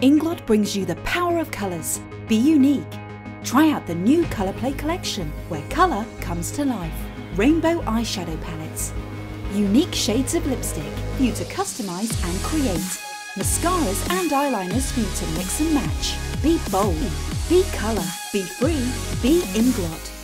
Inglot brings you the power of colours. Be unique. Try out the new Colour Play collection, where colour comes to life. Rainbow eyeshadow palettes. Unique shades of lipstick for you to customise and create. Mascaras and eyeliners for you to mix and match. Be bold. Be colour. Be free. Be Inglot.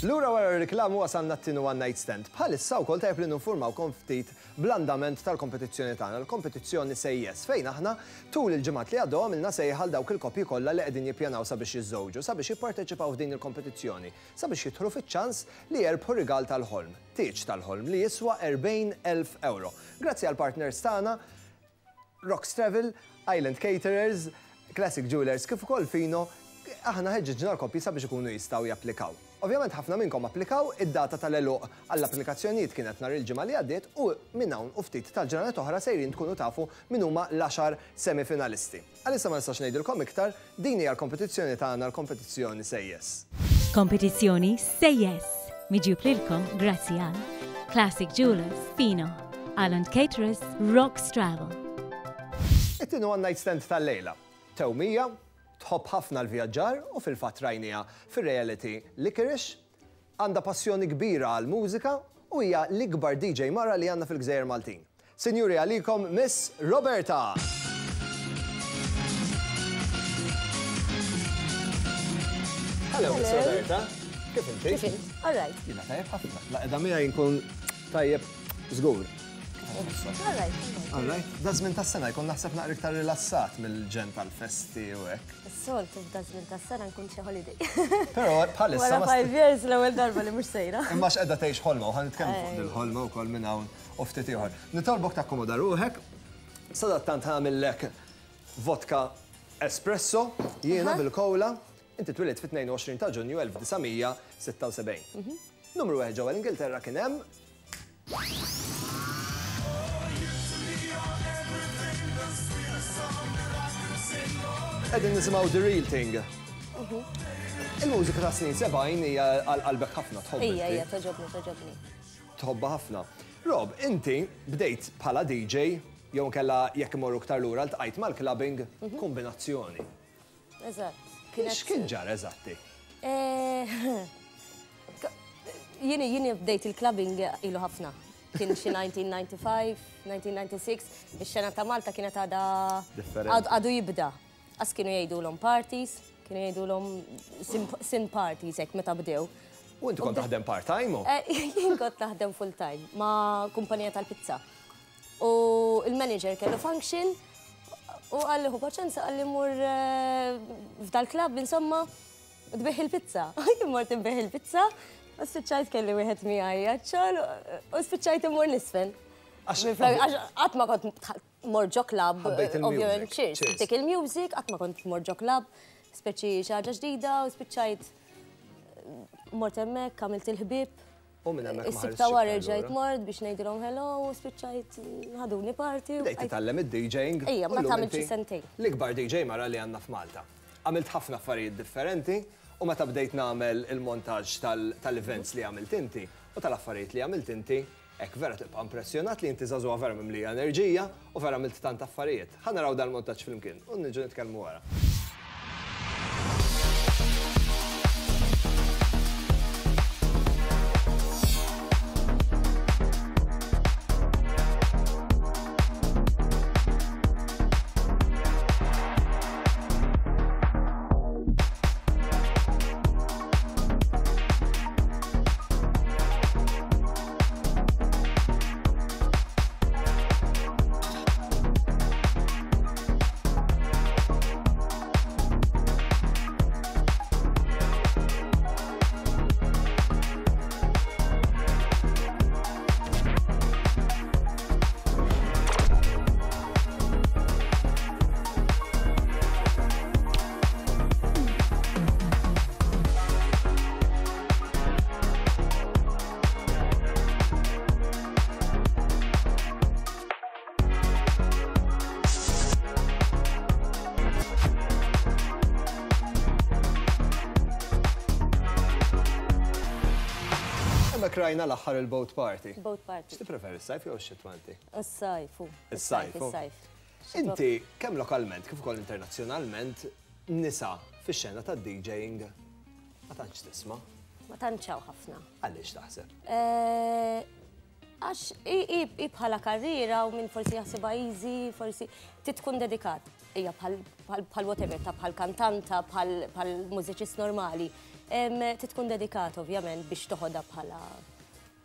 Lura wara r-riklamu wasalna t-tieni one night stand. Bħalissa wkoll tajjeb li ninfurmawkom ftit bl-andament tal-kompetizzjoni tagħna, l-kompetizzjoni Say Yes, fejn aħna tul il-ġimgħat li għaddew għamilna sejħa għal dawk il-koppji kollha li qegħdin jippjanaw sabiex jiżżewġu, sabiex jipparteċipaw f'din il-kompetizzjoni, sabiex jidħlu fiċ-ċans li jerbħu rigal tal-ħolm, tieġ tal-ħolm li jiswa 40,000 ewro. Grazzi għall-partners tagħna, Rocks Travel, Island Caterers, Classic Jewellers kif ukoll Fino, aħna ħeġġiġna l-koppji sabiex ikunu jistgħu japplikaw. Ovvjament ħafna minnkom applikaw, id-data tal-għeluq għall-applikazzjonijiet kienet nhar il-Ġimgħa li għaddiet u minn hawn u ftit tal-ġranet oħra sejrin tkunu tafu min huma l-għaxar semifinalisti. Għalissa ma nistax ngħidilkom iktar, din hija l-kompetizzjoni tagħna l-kompetizzjoni Say Yes. Kompetizzjoni Say Yes, miġjub lilkom grazzi għal Classic Jewellers, Fino, Island Caterers, Rocks Travel. It-tieni one night stand tal-lejla. Tewmija, tħobb ħafna l-vjaġġar u fil-fatt rajniha fir-reality Licorice, għandha passjoni kbira għall-mużika u hija l-ikbar DJ mara li għandna fil-Gżejjer Maltin. Sinjuri għalikom Miss Roberta! Hello, Miss Roberta. Kif inti? Kif int? All right. Jiena tajjeb ħafna. La qiegħda miegħi nkun tajjeb żgur. All right. All right. Da żmien tas-sena jkun naħseb naqra iktar rilassat mill-ġen tal-festi u hekk. Is-soltu f'da żmien tas-sena nkun xi holiday. Però bħalissa. Wara five years l-ewwel darba li mhux sejra. Imma x'qiegħda tgħix ħolma u ħa nitkellmu fuq dil-ħolma wkoll minn hawn u ftit ieħor. Nitolbok takkomoda ruħek. Sadattant ħamillek vodka espresso jiena bil-kola. Inti twilidt fit-22 ta' Ġunju 1976. Mhm. Numru wieħed ġewwa l-Ingilterra kien hemm Qegħdin nisimgħu The Real Thing. Mhm. Il-mużika ta' snin 70 hija għal qalbek ħafna tħobb. Ija, ija, toġobni, toġobni. Tħobbha ħafna. Rob, inti bdejt bħala DJ jew kella jekk imorru iktar lura ltqajt mal-clubbing mhm. kombinazzjoni. Eżatt. X'kien ġara eżatti? Eh, jieni jieni bdejt il-clubbing ilu ħafna. Kien xi 1995, 1996, ix-xena ta' Malta kienet għadha għadu jibda. Qas kienu jgħidulhom parties, kienu jgħidulhom sin parties hekk meta bdew. U inti kont taħdem part-time? Eh, jien kont naħdem full-time ma' kumpanija tal-pizza. U il-manager kellu function u qalli ħu paċenza qalli mur eh, f'dal-klabb insomma tbigħ il-pizza. Jien mort inbigħ il-pizza u spiċċajt kelli wieħed miegħi għaċ-xogħol u spiċċajt immur nisfen. Għax qatt ma kont mort ġo club, ovvjament, cheers, dik il-music, qatt ma kont mort ġo club, speċi xi ħaġa ġdida u spiċċajt mort hemmhekk, għamilt il-ħbieb. U minn hemmhekk ma Is-sibt ta' wara rġajt mort biex ngħidilhom hello u spiċċajt ħaduni party. Bdejt titgħallem id-DJing. Ejja, ma tagħmel xi sentejn. L-ikbar DJ mara li għandna f'Malta. Għamilt ħafna affarijiet differenti u meta bdejt nagħmel il-montaġġ tal-events li għamilt inti u tal-affarijiet li għamilt inti, Hekk vera tibqa' impressjonat li inti żagħżugħa vera mimlija enerġija u vera għamilt tant affarijiet. Ħa naraw dal-montaġġ flimkien u niġu nitkellmu wara. Hawnhekk rajna l-aħħar il-boat party. Boat party. X'tippreferi s-sajf jew x-xitwa inti? Is-sajf. Is-sajf. Is-sajf. Inti kemm lokalment kif ukoll internazzjonalment nisa fix-xena tad-DJing ma tantx tisma'. Ma tantx hawn ħafna. Għaliex taħseb? Eh, għax i bħala karriera u minn forsi jaħsibha easy, forsi trid tkun dedikat. Hija bħal whatever, ta' bħal kantanta, bħal mużiċist normali. Trid tkun dedikat ovvjament biex toħodha bħala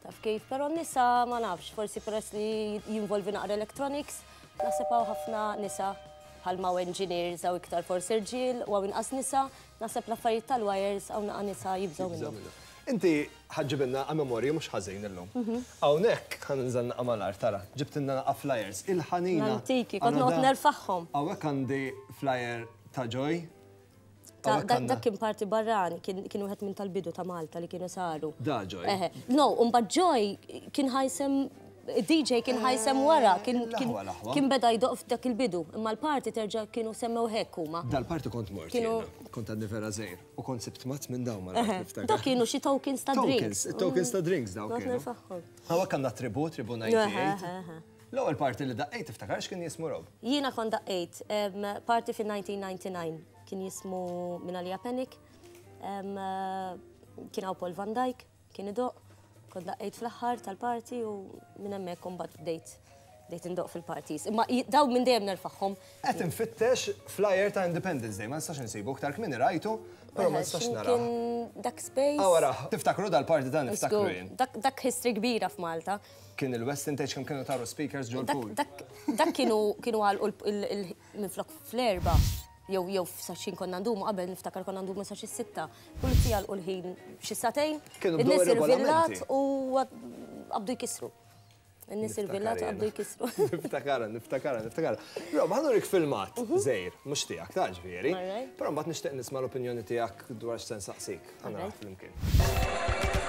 taf kif, però nisa ma nafx, forsi peress li jinvolvi naqra electronics, naħseb hawn ħafna nisa bħal ma engineers hawn iktar forsi rġiel u hawn inqas nisa, naħseb l-affarijiet tal-wires hawn naqa' nisa jibżgħu minnhom. Inti ħa ġġibilna memorji mhux ħażin illum. Mhm. Hawnhekk ħa ninżel naqa' mal-art tara, ġibtilna naqa' flyers il-ħanina. L-antiki, kont noqgħod nerfagħhom. Hawnhekk għandi flyer ta' Joy. Dak kien parti barrani, kien wieħed minn tal-bidu ta' Malta li kienu saru. Da Joy. No, mbagħad Joy kien ħajsem DJ kien ħajsem wara, kien beda jdoq f'dak il-bidu, imma l-parti terġa' kienu semmew hekk huma. Dal-parti kont mort. Kont għadni vera żgħir u kont sibt mazz minn dawn ma niftakar. Dak kienu xi tokens ta' drinks. Tokens ta' drinks dawn kienu. Hawnhekk għandna tribu, tribu 98. L-ewwel parti li daqqejt tiftakar x'kien jismu Rob? Jiena kont daqqejt parti fin-1999 kien jismu Minalija Panic, kien hawn Paul Van Dyk, kien idoqq, kont daqqejt fl-aħħar tal-party u minn hemmhekk imbagħad bdejt bdejt indoqq fil-parties. Imma dawn minn dejjem nerfagħhom. Qed infittex flyer ta' Independence Day, ma nistax insibu, iktar kmieni rajtu, però ma nistax narah. Kien dak space. Ah wara, tiftakru dal-party dan niftakru jien. Dak history kbira f'Malta. Kien il-Westin tgħidx kemm kienu taru speakers ġol-pool. Dak kienu kienu għalqu minflok fl-erba' jew jew sa x'ħin konna ndumu qabel niftakar konna ndumu sa xi sitta. Pulizija għalqu l-ħin xi sagħtejn. Kienu bdew In-nies ir-regolamenti. irvillat u qabdu jkissru. In-nies irvillat u qabdu jkissru. Niftakarha, niftakarha, niftakarha. Rob, ħa nurik filmat żgħir, mhux tiegħek ta' ġifieri. Però mbagħad nixtieq nisma' l-opinjoni tiegħek dwar x'se nsaqsik. Ħa naraw flimkien.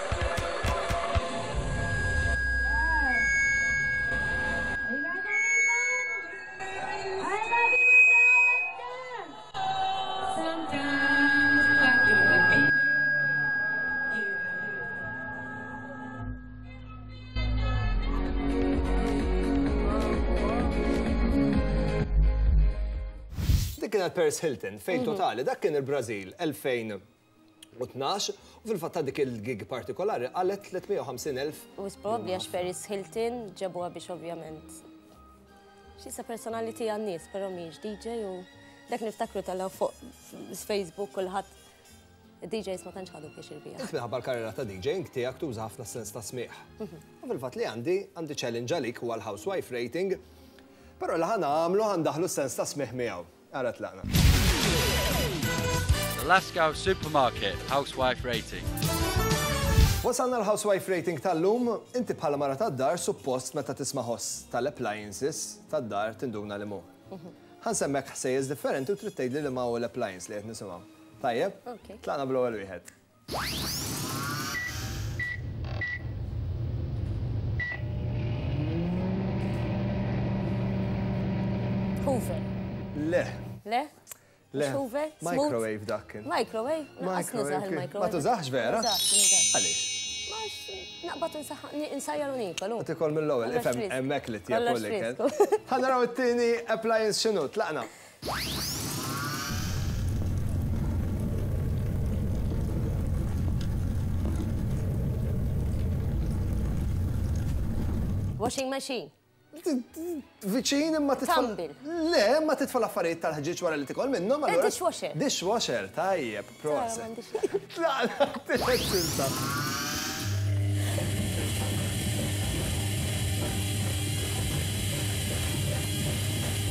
Dik kienet Paris Hilton, fejn totali, dak kien il-Brażil 2012 u fil-fatt ta' dik il-gig partikolari qalet 350,000. U probabbli għax Paris Hilton ġabuha biex ovvjament xisa personality għan-nies, però mhijiex DJ u dak niftakru tal fuq Facebook kulħadd DJs ma tantx ħadu pjaċir biha. Int minħabba l-karriera ta' DJing tiegħek tuża ħafna sens ta' smigħ. U fil-fatt li għandi għandi challenge għalik huwa l-housewife rating, però li ħa nagħmlu ħa ndaħħlu s-sens ta' smigħ miegħu. Ara tlaqna. The Lascaux Supermarket Housewife Rating. Wasalna l-housewife rating tal-lum, inti bħala mara tad-dar suppost meta tisma' ħoss tal-appliances tad-dar tinduna li mhu. Ħa nsemmek ħsejjes differenti u trid tgħidli li ma hu l-appliance li qed nisimgħu. Tajjeb? Tlaqna bl-ewwel wieħed. Hoover. Le. Le? Le. Hoover? Microwave dak kien. Microwave? Microwave. Ma tużax vera? Għaliex? Naqbad insajjar u niekol. Tikol mill-ewwel, ifhem hemmhekk li tjeb l-ikel. Ħa naraw it-tieni appliance x'inhu, tlaqna. Washing machine. Viċin imma titfa'. Tumble. Le, imma titfa' l-affarijiet tal-ħġieġ wara li tikol minnhom Eh, allura. Dishwasher. Dishwasher, tajjeb, proset. Tlaqna t-tielet silta.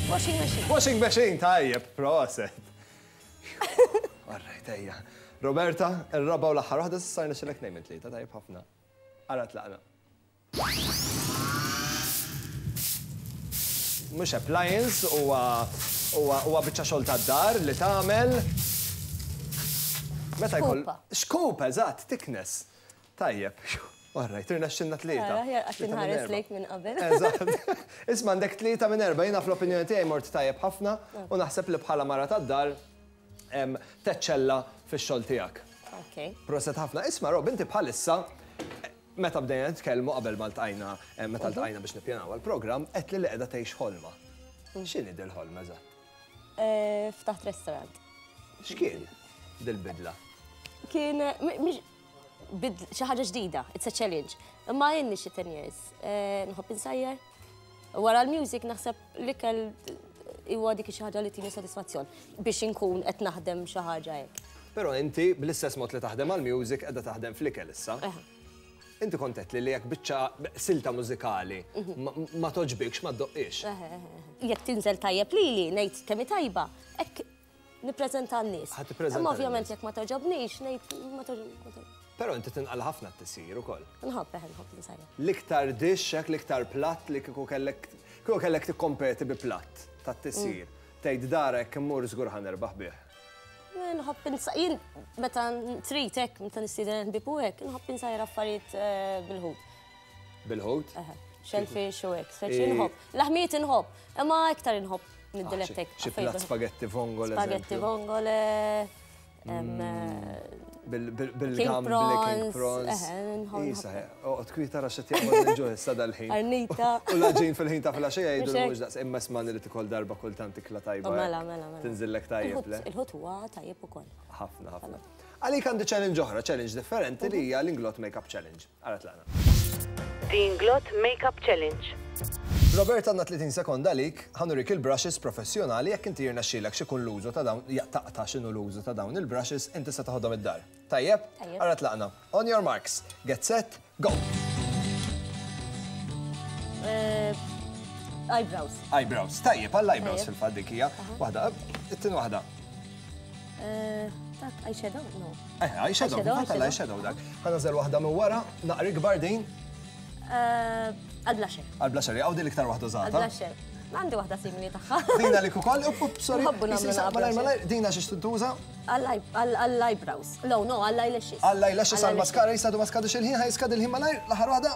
Washing machine. Washing machine, tajjeb, proset. All right, ejja. Roberta, ir-raba' u l-aħħar waħda s'issa rnexxilek tnejn minn tlieta, tajjeb ħafna. Ara tlaqna. Mhux appliance, huwa huwa huwa biċċa xogħol tad-dar li tagħmel meta jkoll. Xkupa. Xkupa, eżatt, tiknes. Tajjeb. All right, irnexxilna tlieta. Ara, aħjar qatt Tlieta minn inħares erba'. lejk minn qabel. Eżatt. Isma' għandek tlieta minn erba', jiena fl-opinjoni tiegħi mort tajjeb ħafna u naħseb li bħala mara tad-dar teċċella fix-xogħol tiegħek. Okay. Proset ħafna. Isma' Rob, inti bħalissa. Meta bdejna nitkellmu qabel ma ltqajna, meta ltqajna biex nippjanaw għall-programm, għedtli li qiegħda tgħix ħolma. X'inhi dil-ħolma eżatt? Ftaħt restaurant. X'kien dil-bidla? Kien xi ħaġa ġdida, it's a challenge. Imma inni xi 10 years. Nħobb insajjar. Wara l-music naħseb l-ikel huwa dik xi ħaġa li tini sodisfazzjon biex inkun qed naħdem xi ħaġa hekk. Però inti bl-istess mod li taħdem għall-music qiegħda taħdem fl-ikel issa. Inti kont għedtli li jekk biċċa silta mużikali ma togħġbikx ma ddoqqhiex. Jekk tinżel tajjeb lili, ngħid kemm hi tajba, hekk nippreżenta għan-nies. Ħa tippreżenta. Imma ovvjament jekk ma togħġobnix, ngħid ma togħġobnix. Però inti tinqala' ħafna t-tisjir ukoll. Nħobb, eħe, nħobb insajjar. L-iktar dish hekk, l-iktar platt li kieku kellek kieku kellek tikkompeti bi platt tat-tisjir. Tgħid dar hekk immur żgur ħa nirbaħ bih. Nħobb jien meta trid hekk, meta nistieden ħbieb u hekk, nħobb insajjar affarijiet bil-ħut. Bil-ħut? Eħe, shellfish u hekk, speċi nħobb. Laħmijiet inħobb, imma iktar inħobb niddilettek. Xi platt spaghetti vongole. Spaghetti vongole. Bil-gambli, king prawns. Isa, oqgħod kwieta ra x'qed jaqbad il-ġuħ issa dal-ħin. Arnita. U l-għaġin fil-ħin ta' filgħaxija jgħidu li mhux daqs imma isma' li tikol darba kultant ikla tajba. Mela, mela, mela. Tinżillek tajjeb, le? Il-ħut huwa tajjeb ukoll. Ħafna, ħafna. Għalik għandi challenge oħra, challenge differenti li hija l-Inglot Makeup Challenge. Ara tlaqna. The Inglot Makeup Challenge. Robert għandna 30 sekonda għalik, ħa nurik il-brushes professjonali jekk inti jirnexxielek x'ikun l-użu ta' dawn, taqta' x'inhu l-użu ta' dawn il-brushes, inti se toħodhom id-dar. Tajjeb? Tajjeb. Ara tlaqna. On your marks, get set, go! Eyebrows. Eyebrows. Tajjeb, għall-eyebrows fil-fatt dik hija. Waħda, it-tieni waħda. Dak eyeshadow? No. Eyeshadow, fil-fatt għall-eyeshadow dak. Ħa nażel waħda minn wara, naqra ikbar din. Għal-blusher. Għal-blusher, jaqgħu din l-iktar waħda użata. Għal-blusher. Għandi waħda simili tagħha. Din għalik ukoll, up, up, sorry. Nħobbu nagħmlu Issa, naqra malajr, blusher. malajr, din għax tintuża? Għall-eyebrows. No, no, għall-eyelashes. Għall-eyelashes, għall-mascara, jisadu ma skadux il-ħin, ħaj skad il-ħin malajr, l-aħħar waħda.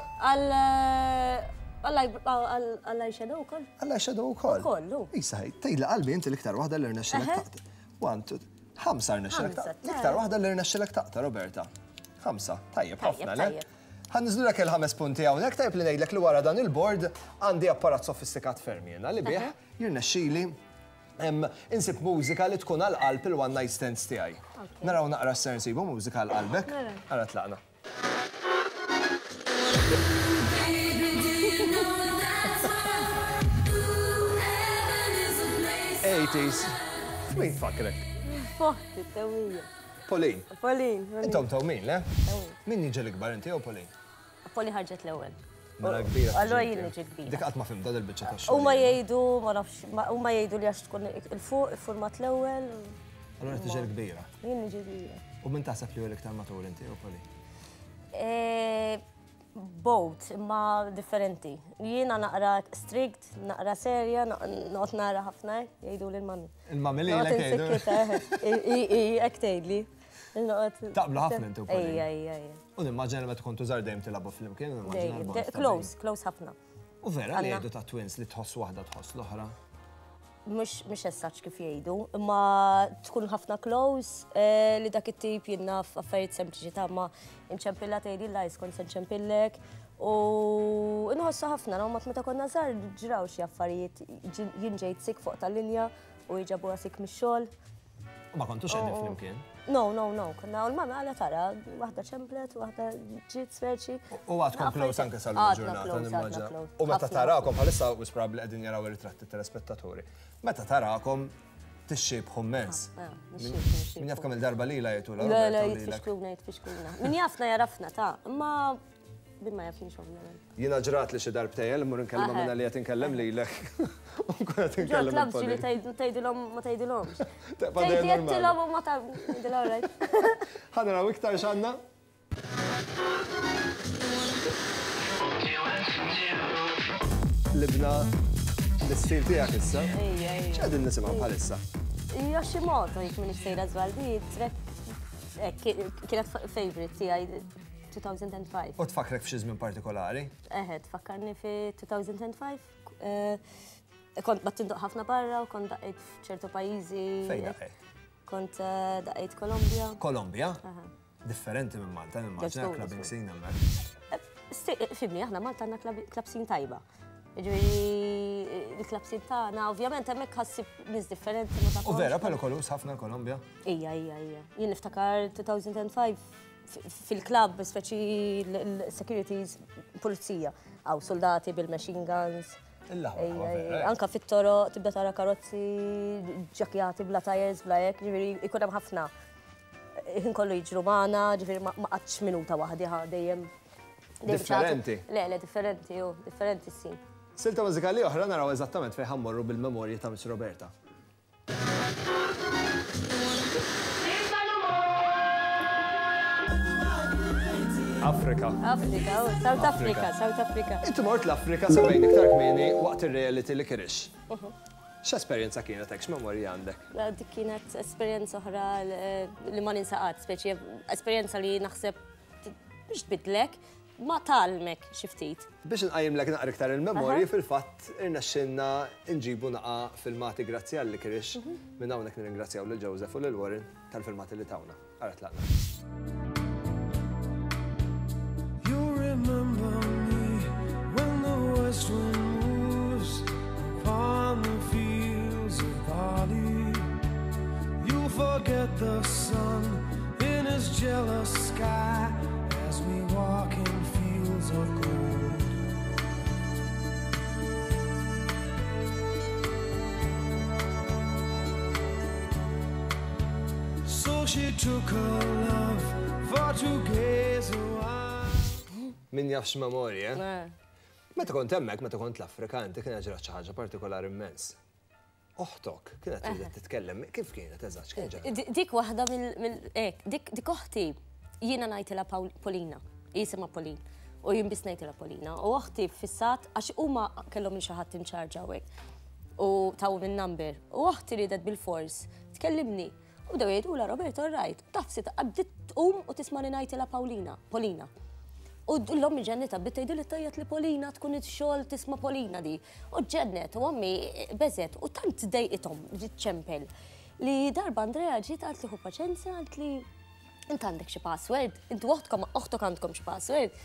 Għall-eyeshadow ukoll. Għall-eyeshadow ukoll. Ukoll, hu. Issa, tgħidli qalbi inti l-iktar waħda li rnexxilek taqta'. One, two, ħamsa rnexxilek taqta'. L-iktar waħda li rnexxilek taqta', Roberta. Ħamsa, tajjeb ħafna, le? Ħa niżlulek il-ħames punti hawnhekk, tajjeb li ngħidlek li wara dan il-board għandi apparat sofistikat ferm jiena li bih jirnexxili insib mużika li tkun għal qalb il-one night stands tiegħi. Naraw naqra x'ser nsibu mużika għal qalbek. Ara tlaqna. Eighties. F'min tfakkrek? F'oħti, t-tewwija. Pauline. Pauline. Intom tewmin, le? Min jiġi l-ikbar, inti jew Pauline? Pauline ħarġet l-ewwel. Mela kbira. Allura jien niġi kbira. Dik qatt ma fimta dil-biċċa tax-xogħol. Huma jgħidu, ma nafx, huma jgħidu li għax tkun il-fuq, iffurmat l-ewwel. Allura tiġi l-kbira. Jien niġi kbira. U min taħseb li hu l-iktar matur inti jew Pauline? Both, imma differenti. Jiena naqra strict, naqra serja, noqgħod nara ħafna, jgħidu lil mami. Il-mami lilek jgħidu. Hekk tgħidli. Taqblu ħafna inti u Pauline. Ejja, ejja, ejja. U nimmaġina li meta kontu żgħar dejjem tilagħbu flimkien, nimmaġina l-bond ta' Close, close ħafna. U vera li jgħidu ta' twins li tħoss waħda tħoss l-oħra? Mhux as such kif jgħidu, imma tkun ħafna close li dak it-tip jien naf affarijiet sempliċi ta' ma nċempilla tgħidli la kont se nċempillek. U nħossu ħafna, no, meta konna żgħar ġraw xi affarijiet, jien ġejt sik fuq tal-linja u jġabuha sik mix-xogħol. U ma kontux qegħdin flimkien? No, no, no, konna u l-mama għala tara, waħda ċemplet, waħda ġiet speċi. U għadkom close anke sal-lum ġurnata, nimmaġina. U meta tarakom bħalissa u probabbli qegħdin jaraw ir-ritratti telespettaturi. Meta tarakom tixxiebħu immens. Min jaf kemm il-darba lilha jgħidu Le, le, jitfixkluna, jitfixkluna. Min jafna jarafna ta' imma min ma jafniex ovvjament. Jiena ġrat li xi darbtejn li mmur inkellem minna li qed inkellem lilek. U nkun qed inkellem. Ġo clubs ġieli tgħidilhom ma tgħidilhomx. Tgħid jgħidtilhom u ma tgħidilhom right. Ħa naraw iktar x'għandna. Libna l-istil tiegħek issa. Ejja, ejja. X'qegħdin nisimgħu bħalissa? Yoshimoto, jekk m'iniex sejra żball, di track kienet favorite tiegħi 2005. U tfakkrek f'xi żmien partikolari? Eħe, tfakkarni fi 2005. Kont bat tindoq ħafna barra u kont daqqejt f'ċertu pajjiżi. Fejn daqqejt? Kont daqqejt Kolombja. Kolombja? Differenti minn Malta, nimmaġina clubbing scene hemmhekk. Fhimni, aħna Malta għandna club scene tajba. Ġifieri, il-club scene tagħna, ovvjament hemmhekk ħa ssib nies differenti ma tafhomx. U vera perikoluż ħafna l-Kolombja? Ija, ija, ija. Jien niftakar 2005 fil-club, speċi l-securities, pulizija, għaw soldati bil-machine guns. Anka fit-toroq tibda tara karozzi ġakjati bla tires, bla hekk, ġifieri jkun hemm ħafna. Ħin kollu jiġru magħna, ġifieri ma qgħadtx minuta waħdi ħa dejjem. Differenti. Le, le, differenti, ju, differenti sin. Silta mużikali oħra naraw eżattament fejn ħa mmorru bil-memorji ta' Miss Roberta. Afrika. Afrika, oh, South Africa, South Africa. Inti mort l-Afrika semmejn iktar kmieni waqt ir-reality li kirix. X'esperjenza kienet hekk, x'memorji għandek? Dik kienet esperjenza oħra li ma ninsa qatt, speċi esperjenza li naħseb biex tbiddlek, ma tgħallmek xi ftit. Biex inqajjimlek naqra iktar il-memorji, fil-fatt irnexxielna nġibu naqa' filmati grazzi għal Licorice. Minn hawnhekk nirringrazzjaw lil Joseph u lil Warren tal-filmati li tawna. Ara tlaqna. You'll remember me when the west wind moves upon the fields of barley. You'll forget the sun in his jealous sky as we walk in fields of gold. So she took her love for to gaze a while. Min jaf x'memorji, eh? Meta kont hemmhekk, meta kont l-Afrika, inti kienet ġrat xi ħaġa partikolari immens. Oħtok kienet ridet titkellem, kif kienet eżatt, x'kien ġara? Dik waħda mill hekk, dik dik oħti jiena ngħidilha Paulina, hi jisimha Pauline, u jien biss ngħidilha Paulina. U oħti ffissat għax huma kellhom lil xi ħadd in charge hawnhekk u tawhom in-number. U oħti riedet bilfors tkellimni. U bdew jgħidulha Roberto all right. Taf se bdiet tqum u tismani ngħidilha Paulina, Polina. U l-ommi ġennitha bdiet tgħidilha tgħajjat li Polina tkun ix-xogħol tisma' Polina di. U ġennet u ommi beżgħet u tant dejqithom bdiet ċempel li darba Andrea ġiet qaltli ħu paċenzja qaltli int għandek xi password, intu oħtkom oħtok għandkom xi password.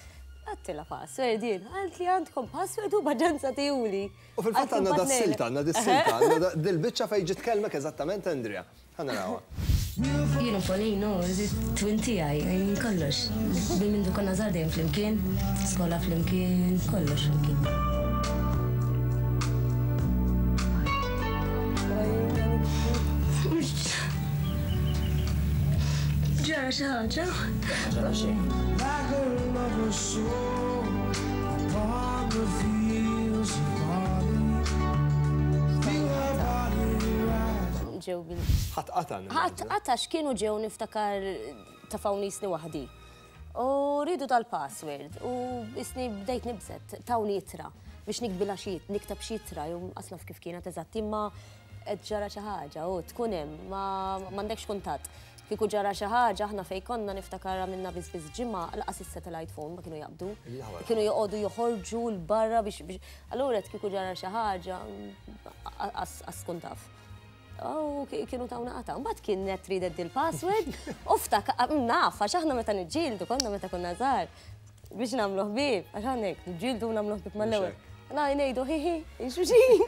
Għedtilha password jien, qaltli għandkom password u paċenza tihuli. U fil-fatt għandna das-silta, għandna dis-silta, għandna dil-biċċa fejn ġiet tkellmek eżattament Andrea. Ħa narawha. Jien u Pauline hu twin tiegħi, jien kollox. Minn mindu konna żgħar dejjem flimkien, skola flimkien, kollox flimkien. Ġara xi ħaġa? Ġara xejn. Like a lover's soul upon the fields of barley. Feel her body rise. Ġew bil. Ħadd qata' nimmaġina. Ħadd qata' x'kienu ġew niftakar tafawni jisni waħdi. U riedu dal-password u jisni bdejt nibżet, tawni ittra biex nikbilha xi nikteb xi ittra jew qas naf kif kienet eżatt imma qed ġara xi ħaġa u tkun hemm ma m'għandekx kuntatt. Kieku ġara xi ħaġa aħna fejn konna niftakar għamilna biss biss ġimgħa lanqas is-satellite phone ma kienu jaqbdu. Kienu joqogħdu joħorġu 'l barra biex biex allura kieku ġara xi ħaġa qas tkun taf. U kienu tawna qatgħa. Mbagħad kienet ridet dil-password u ftakar naf għax aħna meta niġġieldu konna meta konna żgħar biex nagħmlu ħbieb, għax aħna hekk niġġieldu u nagħmlu ħbieb mal-ewwel. Na ngħidu hi hi, xuxin.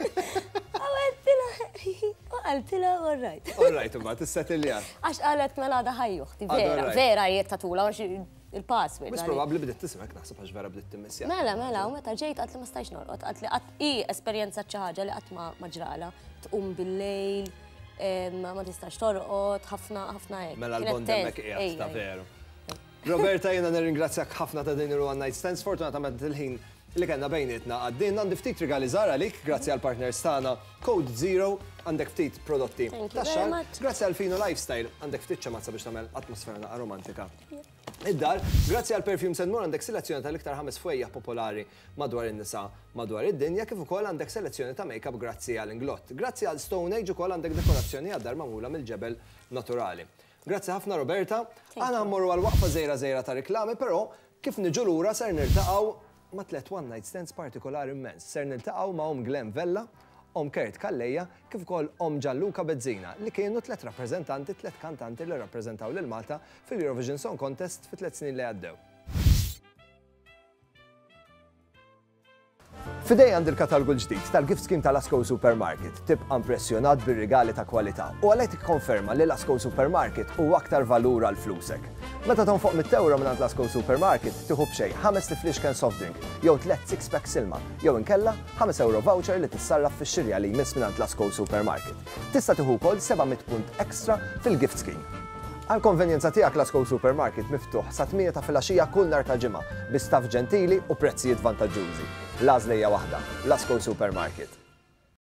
U għedtilha hi hi, u qaltilha all right. All right, imbagħad issettiljat. Għax qalet mela għadha ħaj uħti, vera, vera jiet tatula għax il-password. Mhux probabbli bdiet tismek naħseb għax vera bdiet timmissja. Mela, mela, u meta ġejt qatt li ma stajx norqod, qatt li qatt hi esperjenza xi ħaġa li qatt ma ġrala, tqum bil-lejl, ma tistax torqod, ħafna ħafna hekk. Mela l-bond hemmhekk qiegħed ta' veru. Roberta, jiena nirringrazzjak ħafna ta' din il-One Night Stand. Sfortunatament il-ħin li kellna bejnietna għaddielna. Għandi ftit rigali żgħar għalik, grazzi għall-partners tagħna Code Zero, għandek ftit prodotti tax-xagħar. Grazzi għal Fino Lifestyle, għandek ftit ċemazza biex tagħmel atmosfera naqra romantika id-dar. Grazzi għal Perfumes and More għandek selezzjoni tal-iktar ħames fwejjaħ popolari madwar in-nisa madwar id-dinja, kif ukoll għandek selezzjoni ta' makeup grazzi għal Inglot. Grazzi għal Stone Age ukoll għandek dekorazzjoni għad-dar magħmula mill-ġebel naturali. Grazzi ħafna Roberta. Aħna mmorru għal waqfa żgħira żgħira ta' riklami, però kif niġu lura ser niltaqgħu ma' tlett one night stands partikolari immens. Ser niltaqgħu ma' omm Glenn Vella, omm Kurt Calleja, kif ukoll omm Gianluca Bezzina, li kienu tlett rappreżentanti, tlett kantanti li rrappreżentaw lil Malta fil-Eurovision Song Contest fit-tlett snin li għaddew. F'idejja għandi l-katalgu l-ġdid tal-gift scheme ta' Lasco Supermarket. Tibqa' impressjonat bir-rigali ta' kwalità u għalhekk tikkonferma li Lasco Supermarket huwa aktar valur għal flusek. Meta tonfoq mitt ewro mingħand Lasco Supermarket, tieħu b'xejn ħamest ifliexken soft drink jew tlett six packs ilma jew inkella ħames ewro voucher li tissarraf fix-xirja li jmiss mingħand Lasco Supermarket. Tista' tieħu wkoll 700 punt extra fil-gift scheme. Għall-konvenjenza tiegħek Lasco Supermarket miftuħ sat-tmienja ta' filgħaxija kull nhar ta' Ġimgħa bi staff ġentili u prezzijiet vantaġġużi. L-għażla hija waħda, Lasco Supermarket.